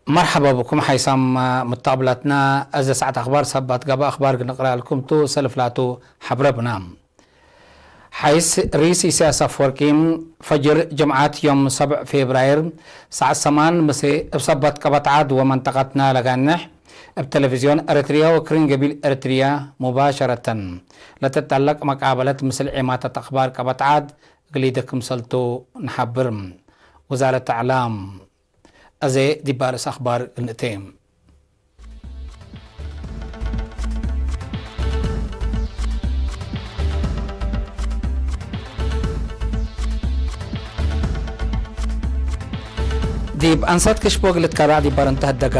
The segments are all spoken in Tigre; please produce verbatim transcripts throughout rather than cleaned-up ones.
መርሐባ ብኩም ሓይሳም ሙተቅብላትና። እዘ ሰዓት አኽባር ሰባት ገብአ አኽባር ግንቅረአልኩም ቱ። ሰልፍ ላቱ ሐብረብና። ሓይስ ርኢስ ኢሳያስ አፈወርቂ፣ ፈጅር ጅምዓት ዮም ሰብዕ ፌብራይር ሰዓት ሰማን ምሴ እብ ሰባት ቀበት ዓድ ወመንጠቀትና ለጋንሕ፣ እብ ቴሌቪዝዮን ኤረትርያ ወክርን ገቢል ኤረትርያ ሙባሸረተን ለትጠለቅ መቃበለት ምስል ዔማታት አኽባር ቀበት ዓድ እግል ኢደ ክምሰልቱ ነሓብር። ውዛረት አዕላም። አዜ ዲብ አርእስ አኽባር እግል ንእቴ። ዲብ አንሳት ክሽቦ እግል ልትከረዕ ዲብ ባርንተ ህደገ።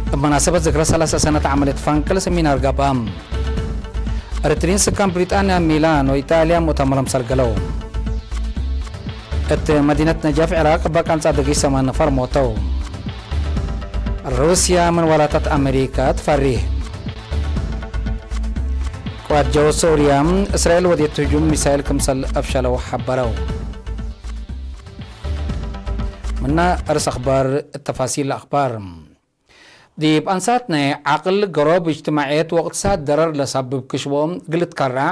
እብ መናሰበት ዝክረ ሰላሳ ሰነት ዐመልየት ፈንቅል ሰሚናር ገብአ። ኤረትርዪን ስካን ብሪጣንያ፣ ሚላን ወኢጣልያ ሙእተመሮም ሰርገለው። እት መዲነት ነጃፍ ዒራቅ እበ ቀንጻ ድጊ ሰመን ነፈር ሞተው። ሩስያ ምን ወላታት አሜሪካ ትፈሪህ። ቅዋት ጀው ሶርያ፣ እስራኤል ወዴት ህጁም ሚሳይል ክምሰል አፍሸለው ሐበረው። ምነ አርእስ አኽባር፣ ተፋሲል አኽባር። ዲብ አንሳት ናይ ዐቅል፣ ገሮብ፣ እጅትማዕየት ወእቅትሳድ ደረር ለሰብብ ክሽቦ እግል ልትከረዕ፣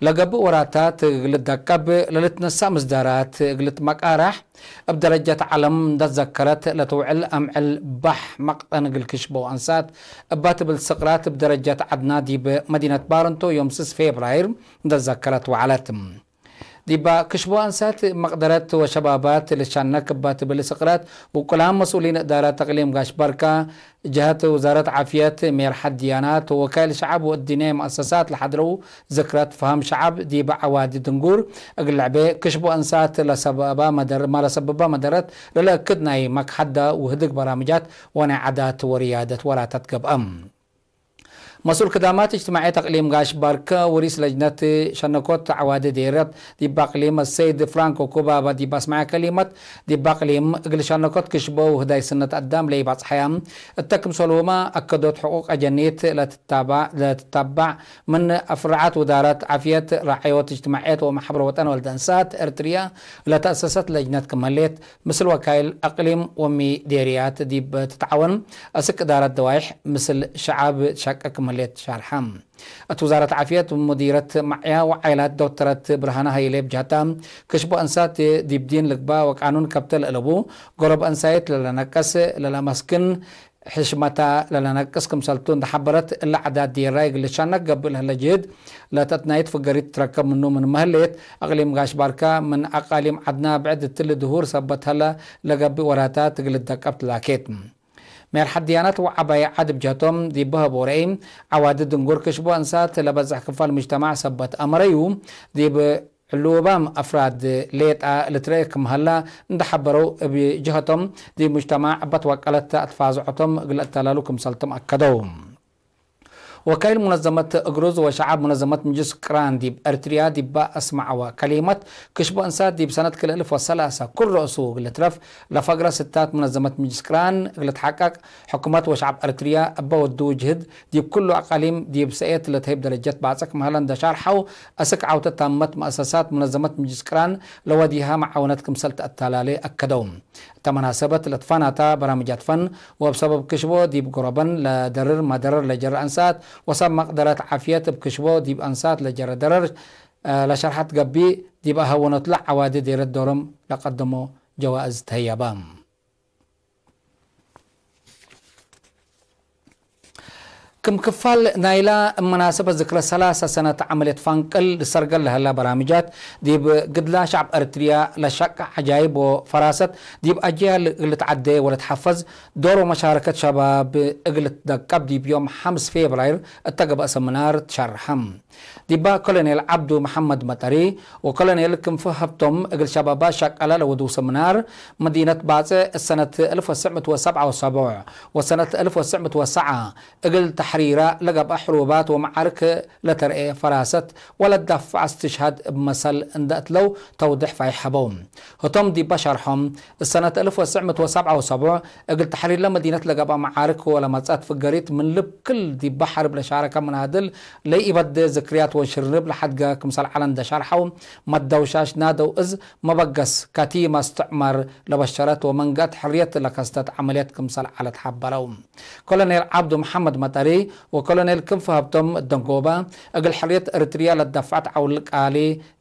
ለገብእ ወራታት እግል ልትደቀብ፣ ለልትነሳእ ምስዳራት እግል ልትመቃራሕ፣ እብ ደረጀት ዐለም እንደ ትዘከረት ለትውዕል አምዕል ባሕ መቅጠን እግል ክሽቦ አንሳት እባ ትብል ስቅራት እብ ደረጀት ዐድና ዲብ መዲነት ባረንቶ ዮም ስስ ፌብራይር እንደ ትዘከረት ወዐለት። ዲባ ክሽቦ አንሳት መቅደረት ወሸባባት ልትሻነክ እባ ትብል ስቅራት፣ ውቁላም መስኡሊን እዳራት እቅሊም ጋሽ ባርካ፣ ጀሀት ውዛረት ዓፍየት፣ ሜርሐት ድያናት ወወካይል ሸዐብ ወእድንያይ መአሰሳት ለሐድረው ዝክረት ፈሀም ሸዐብ፣ ዲብ ዐዋዲ ድንጉር እግል ለዐቤ ክሽቦ አንሳት ለሰበባ መደር-፣ ማ ለሰብባ መደረት ለለአክድ ናይ መክሐዳ ውህድግ በራምጃት ወናይ ዓዳት ወርያደት ወራታት ገብአም። መስኡል ክዳማት እጅትማዕየት አቅሊም ጋሽ ባርከ ወሪስ ለጅነት ሸነኮት ዐዋዲ ዴረት ዲብ አቅሊም አሰይድ ፍራንኮ ኩባባ ዲብ አስመዐ ከሊመት፣ ዲብ አቅሊም እግል ሸነኮት ክሽቦ ወህዳይ ስነት አዳም ለኢባጽሐያ እተ ክምሰልሁመ አከዶት ሕቁቅ አጀኒት ለትታባዕ፣ ለትታባዕ ምን አፍረዓት ውዛረት ዓፍየት፣ ራዕዮት እጅትማዕየት ወመሐብረ ወጠን ወልደ እንሳት ኤርትርያ ለተአሰሰት ለጅነት ክም ህሌት፣ ምስል ወካይል አቅሊም ወሚዴርያት ዲብ ትትዓወን አስክ እዳረት ደዋይሕ ምስል ሸዐብ ትሸቅቅ ክም ህሌት ሻርሐ። እት ውዛረት ዓፍየት ሙዲረት መዕያ ወዓይላት ዶክተረት ብርሃነ ሀይሌ ብጀህታ፣ ክሽቦ እንሳት ዲብ ዲን ልግባእ ወቃኑን ከብተ ለአለቡ፣ ገሮብ እንሳይት ለለነቅስ ለለመስክን፣ ሕሽመታ ለለነቅስ ክምሰልቱ እንደ ሐበረት፣ እለ ዓዳት ዴራይ እግል ልትሻነክ ገብእ ለህለ ጅህድ፣ ለተትናይት ፍገሪት ትትረከብ ምኑ ምንመ ህሌት፣ አቅሊም ጋሽ ባርካ ምን አቃሊም ዐድና ብዕድ እትሊ ድሁር ሰበት ሀለ ለገብእ ወራታት እግል ልትደቀብ ትላኬት። ሜርሐት ድያናት ወዐባይ ዐድ ብጀህቶም ዲብ በሀቦ ረአይ፣ ዐዋዲ ድንጉር ክሽቦ እንሳት ለበዝሕ ክፋል ሙጅተማዕ ሰበት አመረዩ፣ ዲብ ዕሉባም አፍራድ ሌጣ ልትረኤ ክም ሀላ እንደ ሐበረው፣ እብ ጀሀቶም ዲብ ሙጅተማዕ እበ ትወቀለት አትፋዝዖቶም እግል ለአተላሉ ክምሰልቶም አከደው። ወካይል ሙነዘመት እግሩዝ ወሸዐብ ሙነዘመት ምጅልስ ቅራን ዲብ ኤርትርያ ዲባ አስመዐወ ከሊመት፣ ክሽቦ እንሳት ዲብ ሰነት ክልኤ እልፍ ወሰላሳ ኩል ረእሱ እግል ልትረፍ ለፈግረ ስታት ሙነዘመት ምጅልስ ቅራን እግል ልትሐቀቅ፣ ሕኩመት ወሸዐብ ኤርትርያ እበ ወዱ ጅህድ ዲብ ኩሉ አቃሊም ዲብ ሰእየት ለተህይብ ደረጀት ባጽዕ ክም ሀለ እንደ ሻርሐው፣ አስክ ዐውተ ታመት መአሰሳት ሙነዘመት ምጅልስ ቅራን ለወዲሃ መዓውነት ክምሰል ተአተላሌ አከደው። እተ መናሰበት ለትፋናታ በራምጃት ፈን ወእብ ሰበብ ክሽቦ ዲብ ጎረበን ለደርር መደረር ለጀረ አንሳት ወሰብ መቅደረት ዓፍየት እብ ክሽቦ ዲብ አንሳት ለጀረ ደረር ለሸርሐት ገብእ፣ ዲብ አሀወኖትለ ዐዋዲ ዴረት ዶሮም ለቀደሞ ጀዋእዝ ተህየበ። ክም ክፋል ናይላ መናሰበት ዝክረ ሰላሳ ሰነት ዐመልየት ፈንቅል ልሰርገል ለሀላ በራምጃት፣ ዲብ ግድላ ሸዕብ ኤረትርያ ለሸቀ ዐጃይብ ወፈራሰት፣ ዲብ አጅያል እግል ልትዐዴ ወለትሐፈዝ ዶር ወመሻረከት ሸባብ እግል ልትደቀብ፣ ዲብ ዮም ሐምስ ፌብራይር እተ ገብአ ሰምናር ትሸርሐ። ዲባ ኮሎኔል ዐብዱ መሐመድ መጠሪ ወኮሎኔል ክንፈ ሀብቶም እግል ሸባባት ሸቀለ ለወድው ሰምናር፣ መዲነት ባጽዕ እሰነት አልፍ ወትስዕ ምእት ወሰብዓ ወሰቡዕ ወሰነት አልፍ ወትስዕ ምእት ወሰብዓ እግል ሪራ ለገብአ ሕሩባት ወመዓርክ ለተርኤ ፈራሰት ወለዳፍዕ እስትሽሃድ እብ መሰል እንደ እትለው ተውድሕ ፋይሕ ሀበው። ህቶም ዲበ ሸርሖም፣ እሰነት አልፍ ወትስዕ ምእት ወሰብዓ ወሰቡዕ እግል ተሕሪር ለመዲነት ለገብአ መዓርክ ወለመጽአት ፍገሪት ምን ልብ ክል ዲበ ሐርብ ለሻረከ መናድል ለኢበዴ ዝክርያት ወሽርንብ ለሐድገ ክምሰል ዐለ እንደ ሸርሐው፣ መደውሻሽ ናደው እዝ መበገስ ከቲመ እስትዕማር ለበሸረት ወመንገአት ሕርየት ለከስተት ዐመልየት ክምሰል ዐለት ሐበረው። ኮሎኔል ዐብዱ መሐመድ መጠሪ ወኮሎኔል ክንፈ ሀብቶም ደንጎባ፣ እግል ሕርየት ኤሪትርያ ለትደፍዐት ዐውል ቃሊ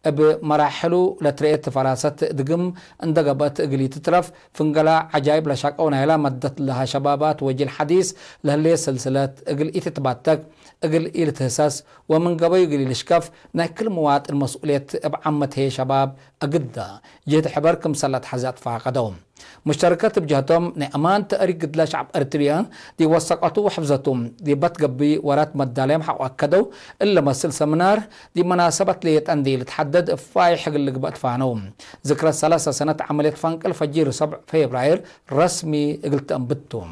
እብ መራሕሉ ለትረኤት ፈራሰት ድግም እንደ ገብአት እግል ኢትትረፍ፣ ፍንገላ ዐጃይብ ለሻቀው ናይላ መደት ለሀ ሸባባት ወጂል ሐዲስ ለህሌት ስልስለት እግል ኢትትባተክ፣ እግል ኢልትህሰስ ወምን ገበዩ እግል ኢልሽከፍ ናይ ክል ምዋጥን መስኡልየት እብ ዓመት ህዬ ሸባብ አግደ ጅህድ ሕበር ክምሰል ለአትሐዜ አትፋቀደው። ሙሽተረከት እብ ጀህቶም፣ ናይ አማን ተእሪክ ግድለ ሸዕብ ኤሪትርያ ዲብ ወሰቀቱ ወሕፍዘቱ ዲብ በትገብእ ወራት መዳለዮም ሐቆ አከደው። እለ መስል ሰምናር ዲብ መናሰበት ሌጠ እንዴ ልትሐደድ እብ ፋይሕ እግል ልግበእ ትፋነው። ዝክረት ሰላሰ ሰነት ዐመልየት ፈንቅል ፈጂር ሰብዕ ፌብራይር ረስሚ እግል ተአንብት ቱ።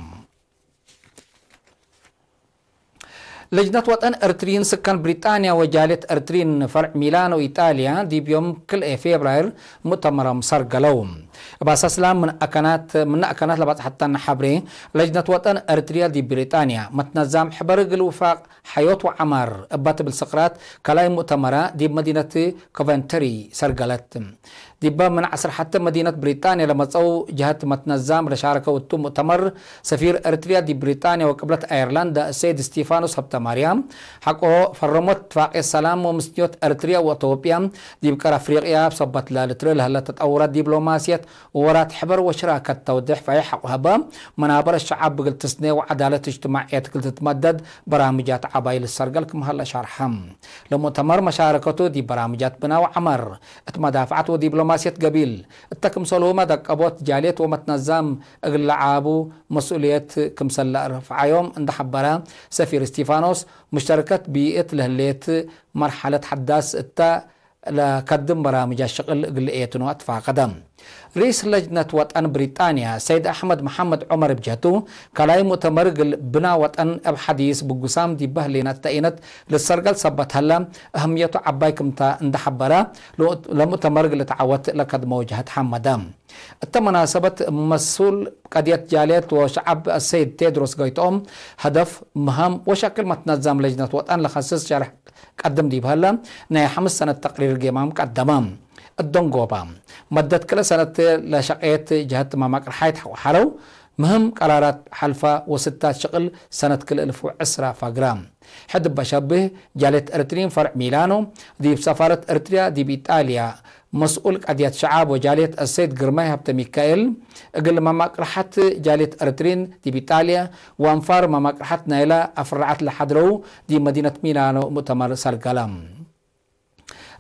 ለጅነት ወጠን ኤሪትርዪን ስካን ብሪጣንያ ወጃልየት ኤሪትርዪን ፈርዕ ሚላኖ ኢጣልያ ዲብ ዮም ክልኤ ፌብራይር ሙእተመሮም ሰርገለው። እብ አሳስላ ምን አካናት፣ ምን አካናት ለባጽሐተነ ሐብሬ፣ ለጅነት ወጠን ኤሪትርያ ዲብ ብሪጣንያ መትነዛም ሕበር እግል ውፋቅ ሐዮት ወዐማር እባ ትብል ስቅራት ከላይ ሙእተመራ ዲብ መዲነት ኮቨንተሪ ሰርገለት። ዲበ ምን ዐስር ሐተ መዲነት ብሪጣንያ ለመጸው ጀሀት መትነዛም ለሻረከው እቱ ሙእተመር፣ ሰፊር ኤሪትርያ ዲብ ብሪጣንያ ወቅብለት አየርላንድ አሰይድ ስቲፋኖስ ሀብተማርያም፣ ሐቆ ፈረሞት እትፋቅየት ሰላም ወምስንዮት ኤሪትርያ ወአቶብያ ዲብ ቀር አፍሪቅያ እብ ሰበት ለልትርእ ለህለ ተጠውራት ዲብሎማስየት ወወራት ሕበር ወሽራከት ተውዴሕ ፋይሕ ሐቆ ሀበ። መናበረ ሸዓብ እግል ትስኔ ወዐዳለት እጅትማዕየት እግል ትትመደድ በራምጃት ዐባይ ልሰርገል ክም ሀለ ሻርሐ። ለሙእተመር መሻረከቱ ዲብ በራምጃት ብና ወዐመር፣ እት መዳፍዐት ወዲብሎማስየት ገቢል፣ እተ ክምሰልሁመ ደቀቦት ጃልየት ወመትነዛም እግል ለዓቡ መስኡልየት ክምሰል ለአርፍዓዮም እንደ ሐበረ ሰፊር እስቲፋኖስ፣ ሙሽተረከት ቢእት ለህሌት መርሐለት ሐዳስ እተ ለከድም በራምጃት ሽቅል እግል ልኤትኖ አትፋቀደ። ርኢስ ለጅነት ወጠን ብሪጣንያ ሰይድ አሕመድ መሐመድ ዑመር እብ ጀህቱ፣ ከላይ ሙእተመር እግል ብና ወጠን እብ ሐዲስ ብጉሳም ዲበ ህሌነት ተኢነት ልትሰርገል ሰበት ሀለ፣ አህምየቱ ዐባይ ክምተ እንደ ሐበረ፣ ለሙእተመር እግል ልትዓወት ለከድመው ጀህት ሐመደ። እተ መናሰበት መሱል ቀድየት ጃልየት ወሸዐብ አሰይድ ቴድሮስ ጎይትኦም፣ ሀደፍ፣ መሀም ወሸክል መትነዛም ለጅነት ወጠን ለከስስ ሸርሕ ቀድም ዲብ ሀለ፣ ናይ ሐምስ ሰነት ተቅሪር ጌማም ቀደመ። እደንጎባ፣ መደት ክልኤ ሰነት ለሸቄት ጀሀት መማቅርሓይት ሐለው፣ ምህም ቀራራት ሐልፋ ወስታት ሽቅል ሰነት ክልኤ እልፍ ወዕስራ ፈግራ። ሕድ በሸብህ፣ ጃልየት ኤሪትርዪን ፈርዕ ሚላኖ፣ ዲብ ሰፋረት ኤሪትርያ ዲብ ኢጣልያ፣ መስኡል ቀድየት ሸዓብ ወጃልየት አሰይድ ግርማይ ሀብተ ሚካኤል፣ እግል መማቅርሐት ጃልየት ኤሪትርዪን ዲብ ኢጣልያ ወአንፋር መማቅርሐት ናይላ አፍረዐት ለሐድረው ዲብ መዲነት ሚላኖ ሙእተመር ሰርገለ።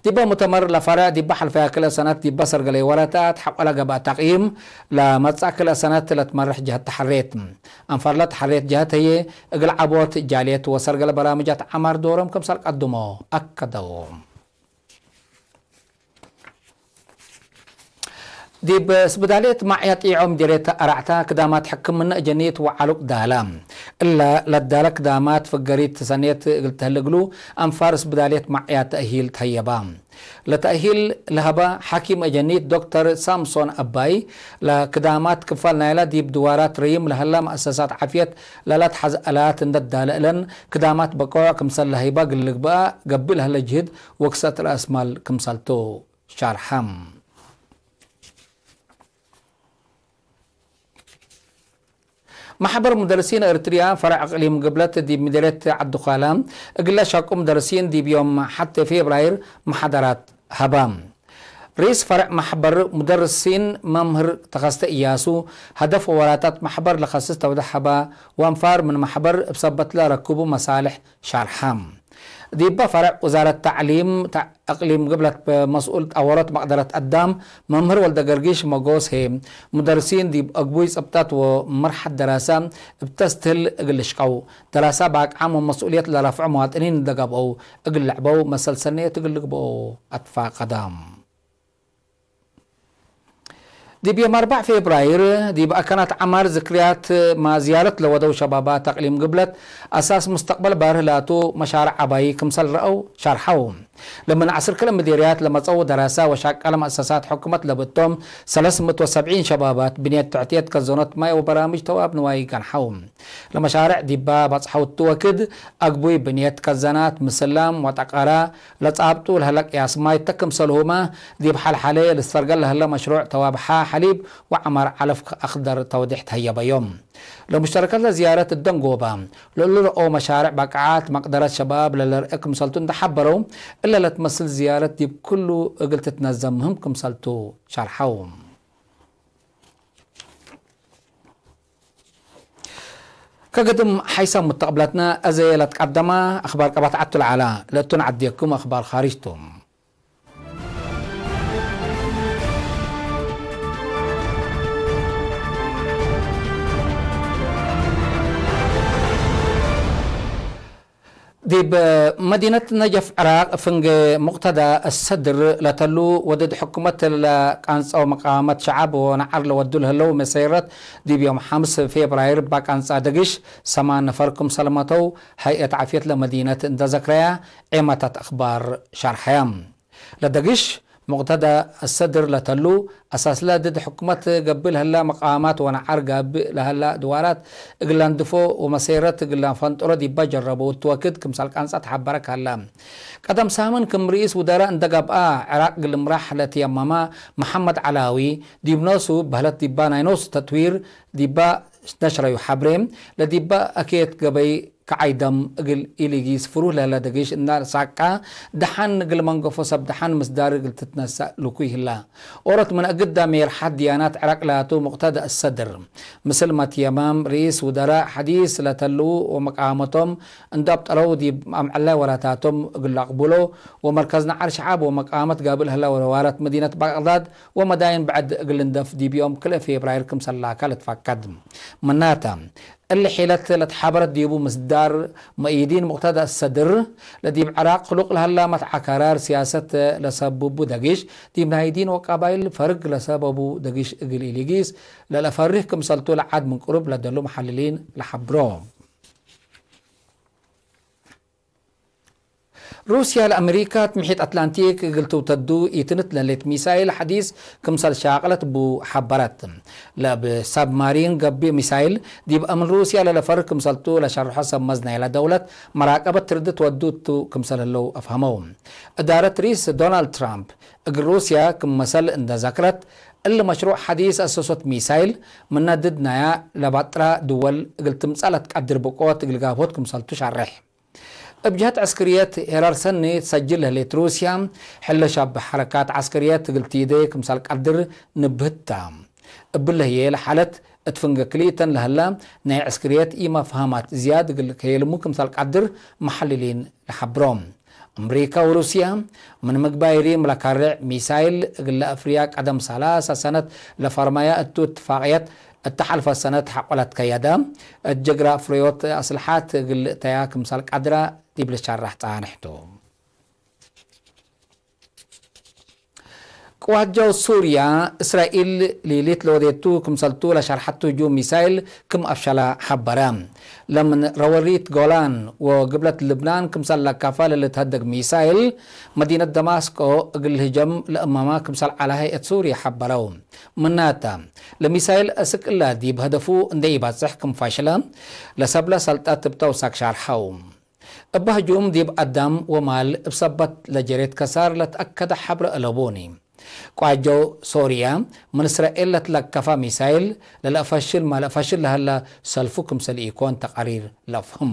ዲበ ሙእተመር ለፈርዕ ዲበ ሐልፈያ ክልኤ ሰነት ዲበ ሰርገለየ ወራታት ሐቆለ ገብአ ተቅይም፣ ለመጽአ ክልኤ ሰነት ለትመርሕ ጀሀት ተሐሬት። አንፋር ለተሐሬት ጀሀት ህዬ እግል ዐቦት ጃልየት ወሰርገለ በራምጃት ዐማር ዶሮም ክምሰል ቀድሞ አከደው። ዲብ ስብዳልየት ማዕያ ጢዖ ምዲርየት አርዐታ ክዳማት ሕክምነ እጀኒት ወዐሉቅ ዳለ። እለ ለዳለ ክዳማት ፍገሪት ሰኔት እግል ተህል እግሉ አንፋር ስብዳልየት ማዕያ ተእሂል ተህየባ። ለተእሂል ለሀበ ሐኪም እጀኒት ዶክተር ሳምሶን አባይ፣ ለክዳማት ክፋል ናይላ ዲብ ድዋራት ረይም ለሀላ መአሰሳት ዓፍየት ለለትሐዝ አላት እንደ ዳለ እለን ክዳማት በቆዕ ክምሰል ለሀይባ እግል ልግበአ ገብእ ለሀለ ጅህድ ወክሰት ረአስ ማል ክምሰልቱ። ሻርሐም። ማሕበር ሙደርሲን ኤርትርያ ፈረዕ እቅሊም ግብለት ዲብ ምዴርየት ዐዲ ዃላ፣ እግለ ሸቁ ሙደርሲን ዲብ ዮም ሐቴ ፌብራይር መሓደራት ሀባ። ርኢስ ፈረዕ ማሕበር ሙደርሲን መምህር ተኸስተ እያሱ፣ ሀደፍ ወወራታት ማሕበር ለኸስስ ተውደሕ ሀባ፣ ወአንፋር ምን ማሕበር እብ ሰበትለ ረክቡ መሳልሕ ሻርሐ። ዲበ ፈረዕ ውዛረት ተዕሊም እቅሊም ግብለት መስኡል ጠወሮት መቅደረት አዳም መምህር ወልደገርጊሽ መጎስ ህዬ፣ ሙደርሲን ዲብ አግቡይ ጽብጠት ወመርሐት ደራሰ እብ ተስትህል እግል ልሽቀው፣ ደራሰ በአቅዓም ወመስኡልየት ለረፍዑ መዋጥኒን እንደ ገብአው እግል ልዕበው መሰል ሰኔት እግል ልግብኦ አትፋቀደ። ዲብ ዮም አርበዕ ፌብራይር ዲብ አከናት ዐማር ዝክርያት ማዝያረት ለወደው ሸባባት አቅሊም ግብለት አሳስ ሙስተቅበል ባርህ ላቱ መሻርዕ ዐባይ ክምሰል ረአው ሸርሐው። ለምን ዐስር ክልኤ ምዴርያት ለመጸው ደራሰ ወሻቀለ መአሰሳት ሕኩመት ለብቶም ሰለስ ምእት ወሰብዒን ሸባባት ብንየት ትሕትየት ከዘኖት ማይ ወበራምጅ ተዋብ ንዋይ ገንሐው። ለመሻርዕ ዲባ ባጽሐው እቱ ወክድ አግቡይ ብንየት ከዘናት፣ ምስላም ወጠቀራ ለጻብጡ ለህለ ቅያስ ማይ ተ ክምሰልሁመ ዲብ ሐልሐሌ ልስተርገል ለህለ መሽሩዕ ተዋብሐ ሐሊብ ወዐማር ዐለፍ አክደር ተውዴሕ ተህየበዮም። ለሙሽተረከት ለዝያረት እደንጎበ፣ ለእሉ ረኦ መሻርዕ ባቅዓት መቅደረት ሸባብ ለለርአ ክምሰልቱ እንደ ሐበረው፣ እለ ለትመስል ዝያረት ዲብ ክሉ እግል ትትነዘም ምህም ክምሰልቱ ሸርሐው። ከግድም ሐይሰ ሙተቅብለትነ አዜ ለትቀደመ አክባር ቀባት ዐቱ ለዐለ፣ ለእቱ ነዐዴኩም አክባር ካርጅ ቱ። ዲብ መዲነት ነጀፍ ዕራቅ ፍንጌ ሙቅተዳ አሰድር ለተሉ ወድድ ሕኩመት ለቃንጻው መቃመት ሸዓብ ወነዓር ለወዱ ለህለው መሰይረት ዲብ ዮም ሐምስ ፌብራይር እባ ቃንጻ ደግሽ ሰማን ነፈር ክምሰል መተው ሀይአት ዓፍየት ለመዲነት እንደ ዘክረያ ዔማታት አክባር ሸርሐያ። ለደግሽ ሙቅተዳ አሰድር ለተሉ፣ አሳስለ ድድ ሕኩመት ገብእ ለህላ መቃማት ወነዓር ጋብእ ለህላ ድዋራት እግል ለንድፎ ወመሴረት እግል ለፈንጥሮ ዲባ ጀረቡ እቱ ወክድ ክምሰል ቃንጻ ተሐበረ ካላ። ቀደም ሳምን ክም ርኢስ ውደራእ እንደ ገብአ፣ ዕራቅ እግል ልምራሕ ለትየመመ መሐመድ ዐላዊ፣ ዲብ ኖሱ በህለት ዲባ ናይ ኖሱ ተትዊር ዲባ ነሽረዩ ሐብሬ፣ ለዲባ አኬት ገበይ ከዓይ ደም እግል ኢሊጊስ ፍሩህ ለህለ ደጊሽ እና ሳቃ ደሐን እግል መንገፎ ሰብ ደሐን ምስዳር እግል ትትነሳእ ልኩይ ህላ። ኦሮት ምን እግዳ ሜርሐት ድያናት ዕራቅ ላቱ ሙቅተዳ አሰድር። ምስል መትየማም ርኢስ ውደራእ ሐዲስ ለተልዉ ወመቃመቶም እንዶ አብጠለው ዲብ አምዕላይ ወላታቶም እግል ለአቅቡሎ ወመርከዝ ነዓር ሸዓብ ወመቃመት ጋብል ህለ ወለዋረት መዲነት ባቅዳድ ወመዳይን ብዕድ እግል ልንደፍ ዲብ ዮም ክልኤ ፌብራይር ክምሰል ላካ ልትፈቀድ። ምናተ፣ እሊ ሒለት ለትሓበረት ዲቡ ምስዳር መእይዲን ሙቅተዳ አሰድር፣ ለዲብ ዕራቅ ክሉቅ ለሀላ መትዓካራር ሲያሰት ለሰብቡ ደጊሽ፣ ዲብ ናይ ዲን ወቀባይል ፈርግ ለሰበቡ ደጊሽ እግል ኢሊጊስ ለለፈርህ ክምሰልቱ ለዓድ ምን ቅሩብ ለደሉ መሐልሊን ለሐብሮ። ሩስያ ለአሜሪካ ትምሒት አትላንቲክ እግል ትውተዱ ኢትንት ለሌት ሚሳይል ሐዲስ ክምሰል ሻቅለት ቡ ሐበረት። ለእብ ሳብማሪን ገብእ ሚሳይል ዲብ አምን ሩስያ ለለፈር ክምሰልቱ ለሸርሖ ሰብ መዝ ናይላ ደውለት መራቀበት ትርድት ወዱ እቱ ክምሰል ህለው አፍሀመው። እዳረት ርኢስ ዶናልድ ትራምፕ እግል ሩስያ ክም መሰል እንደ ዘክረት፣ እሊ መሽሩዕ ሐዲስ አሰሶት ሚሳይል ምነ ድድ ናያ ለባጥራ ድወል እግል ትምጸእ ለትቀድር ብቆት እግል ጋብሆት ክምሰልቱ ሻሬሕ። እብ ጀህት ዕስክርየት ሄራር ሰኒ ትሰጅል ለህሌት ሩስያ፣ ሕለ ሻብ ሐረካት ዐስክርየት እግል ቲዴ ክምሰል ቀድር ንብህት ተ። እብለ ህዬ ለሓለት እት ፍንገ ክልኢተን ለህላ ናይ ዕስክርየት ኢመፍሀማት ዝያድ እግል ከየልሙ ክምሰል ቀድር መሐልሊን ለሐብሮ። አምሪካ ወሩስያ ምን ምግባይ ሪም ለካሬዕ ሚሳይል እግለ አፍርያ ቀደም ሰላሳ ሰነት ለፈርመያ እቱ እትፋቅየት እተ ሐልፈ ሰነት ሐቆ ለትከየደ እት ጅግራ ፍርዮት አስልሓት እግል እተያ ክምሰል ቀድረ ዲብ ልትሸረሕ ጸንሕ ቱ። ቅዋት ጀው ሱርያ፣ እስራኤል ሊሊት ለወዴቱ ክምሰልቱ ለሸርሐቱ ህጁም ሚሳይል ክም አፍሸለ ሐበረ። ለምን ረወሪት ጎላን ወግብለት ልብናን ክምሰል ለካፋ ለልትሀደግ ሚሳይል፣ መዲነት ደማስቆ እግል ህጀም ለእመማ ክምሰል ዐለ ሀይአት ሱርያ ሐበረው። ምናተ፣ ለሚሳይል አስክ እላ ዲብ ሀደፉ እንደ ኢባጽሕ ክም ፈሽለ፣ ለሰብለ ሰልጠት እብ ተውሳክ ሻርሐው። እበ ህጁም ዲብ አዳም ወማል እብ ሰበት ለጀሬት ከሳር ለትአከደ ሐብረ አለቦኒ። ቋጀው ሶርያ፣ ምን እስራኤል ለትለከፈ ሚሳይል ለለአፈሽል ማለአፈሽል ለሀለ ሰልፉ ክምሰል ኢኮን ተቃሪር ለአፍህም።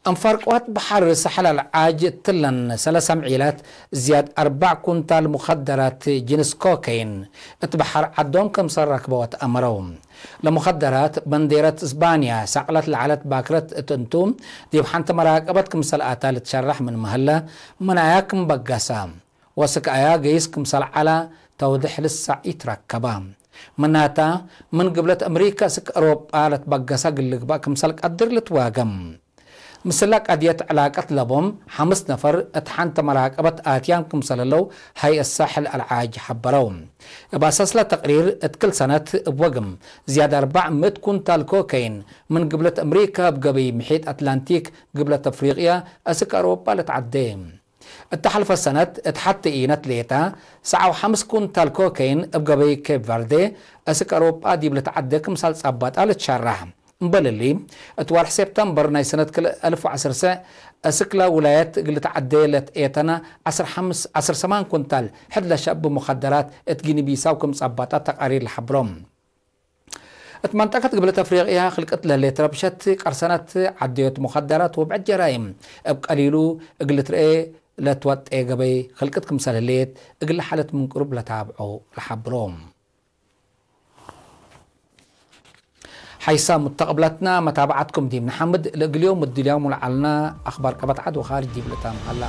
አንፋር ቅዋት በሐር ሰሐል አልዓጅ እትለን ሰለሰ ምዒላት ዝያድ አርበዕ ኩንታል ሙኸደራት ጅንስ ኮከይን እት በሐር ዐዶም ክምሰል ረክበወት አመረው። ለሙኸደራት በንዴረት እስባንያ ሳቅለት ለዐለት ባክረት እት እንቱ፣ ዲብ ሐንቲ መራቀበት ክምሰል አታ ልትሸረሕ ምን መህለ፣ ምን አያ ክም በገሰ ወስክ አያ ገይስ ክምሰል ዐላ ተውድሕ ልሳዕ ኢትረከበ። ምናታ፣ ምን ግብለት አምሪካ እስክ አውሮጳ ለትበገሰ እግል ልግበእ ክምሰል ቀድር ልትዋገም። ምስላ ቀድየት ዕላቀት ለቦም ሐምስ ነፈር እት ሐንተ መራቀበት ኣትያም ክምሰለለው ሀይአት ሳሕል አልዓጅ ሐበረው። እብ አሳስለ ተቅሪር፣ እት ክል ሰነት እብ ወግም ዝያድ አርበዕ ምእት ኩንታል ኮከይን ምን ግብለት አምሪካ እብ ገበይ ምሒጥ አትላንቲክ ግብለት አፍሪቅያ አስክ አውሮጳ ለትዐዴ። እተ ሐልፈ ሰነት እት ሐቴ ኢነት ሌጠ ሰብዓ ወሐምስ ኩንታል ኮከይን እብ ገበይ ኬፕ ቨርዴ አስክ አውሮጳ ዲብ ለትዐዴ ክምሳል ጸባጣ ልትሸረሕ። እምበል እሊ፣ እት ወርሕ ሴፕተምበር ናይ ሰነት ክልኤ አልፍ ወዐስር ሰዕ፣ አስክለ ውላየት እግል ልትዐዴ ለትኤተነ ዐስር ሐምስ፣ ዐስር ሰማን ኩንታል ሕድ ለሸብ ሙከደራት እት ጊኒ ቢሳው ክም ጸባጣት ተቃሪር ለሐብሮ። እት መንጠቀት ግብለት አፍሪቅያ ክልቅት ለህሌት ረብሸት ቀርሰነት ዐደዮት ሙከደራት ወብዕድ ጀራይም እብ ቀሊሉ እግል ልትርኤ ለትወጤ ገበይ ክልቅት ክምሰል ህሌት እግል ሓለት ምን ቅሩብ ለታብዖ ለሐብሮ። ሐይሳም ሙተቅብለትና መታብዓትኩም ዲብ ነሐምድ፣ ለእግል ዮም እድልያሙ ለዐልና አኽባር ቀበት ዐድ ወኻርጅ ዲብ ልታም ሀላ።